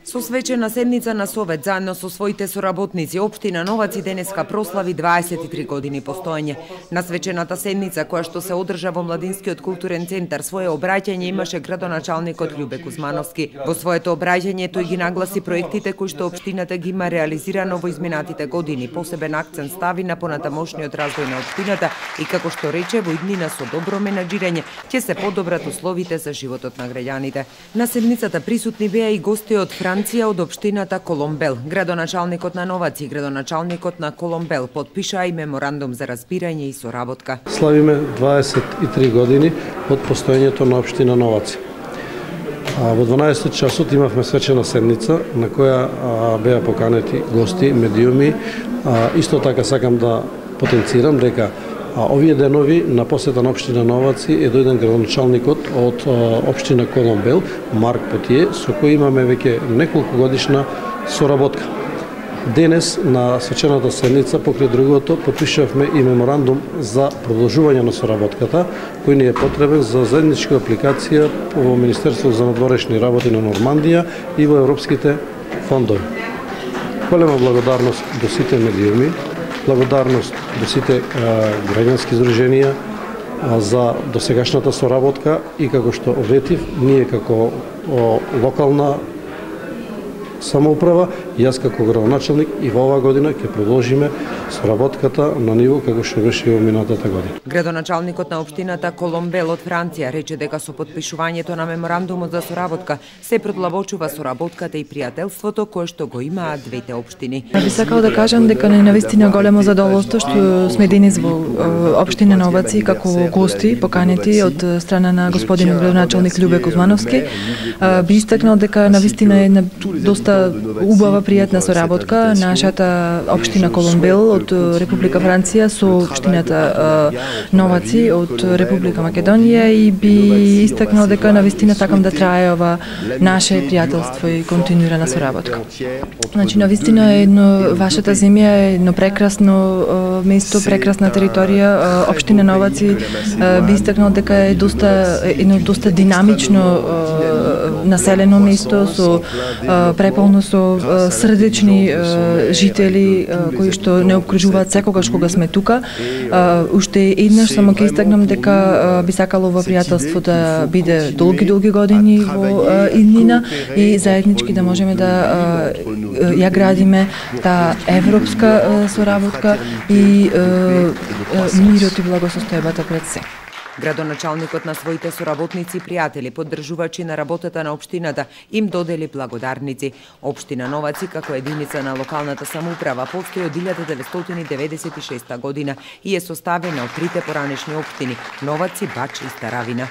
Со свечена седница на Совет, заедно со своите соработници, општина Новаци денеска прослави 23 години постоење. На свечената седница, која што се одржа во Младинскиот културен центар, свое обраќање имаше градоначалникот Љубе Кузмановски. Во своето обраќање тој ги нагласи проектите кои што општината ги има реализирано во изминатите години. Посебен акцент стави на понатамошниот развој на општината и како што рече, во иднина со добро менаџирање ќе се подобрат условите за животот на граѓаните. На седницата присутни беа и гости од Франција од општината Коломбел. Градоначалникот на Новаци и градоначалникот на Коломбел подпишаа и меморандум за разбирање и соработка. Славиме 23 години од постоењето на општина Новаци. Во 12 часот имавме свечена седница на која беа поканети гости, медиуми. Исто така сакам да потенцирам дека овие денови на посета на општина Новаци е дојден градоначалникот од општина Коломбел, Марк Потие, со кој имаме веќе неколку годишна соработка. Денес на свечената седница покрај другото подпишавме и меморандум за продолжување на соработката, кој ни е потребен за заедничка апликација во Министерството за надворешни работи на Нормандија и во европските фондови. Голема благодарност до сите медиуми, благодарност до сите граѓански здруженија за досегашната соработка и како што ветив, ние како локална самоуправа, јас како градоначалник и во оваа година ќе продолжиме соработката на ниво како што беше и во минатата година. Градоначалникот на општината Коломбел од Франција рече дека со подпишувањето на меморандумот за соработка се продлабочува соработката и пријателството кое што го имаат двете општини. Би сакал да кажам дека не навистина големо задоволство што сме денес во општина Новаци како гости поканети од страна на господин градоначалник Љубе Кузмановски. Би истакнал дека навистина е една доста убава пријатна соработка нашата општина Коломбел од Република Франција со општината Новаци од Република Македонија и би истакнал дека навистина сакам да трае ова наше пријателство и континуирана соработка. Значи навистина е вашата земја е едно прекрасно место, прекрасна територија. Општина Новаци би истакнал дека е едно доста динамично населено место со преполно со срдечни жители кои што не обкружуваат секогаш кога сме тука. Уште еднаш само ќе истакнам дека би сакало ова пријателство да биде долги години во иднина и заеднички да можеме да ја градиме таа европска соработка и мирот и благосостојбата пред се. Градоначалникот на своите соработници и пријатели, поддржувачи на работата на општината, им додели благодарници. Општина Новаци како единица на локалната самоуправа постои од 1996 година и е составена од трите поранешни општини Новаци, Бач и Старавина.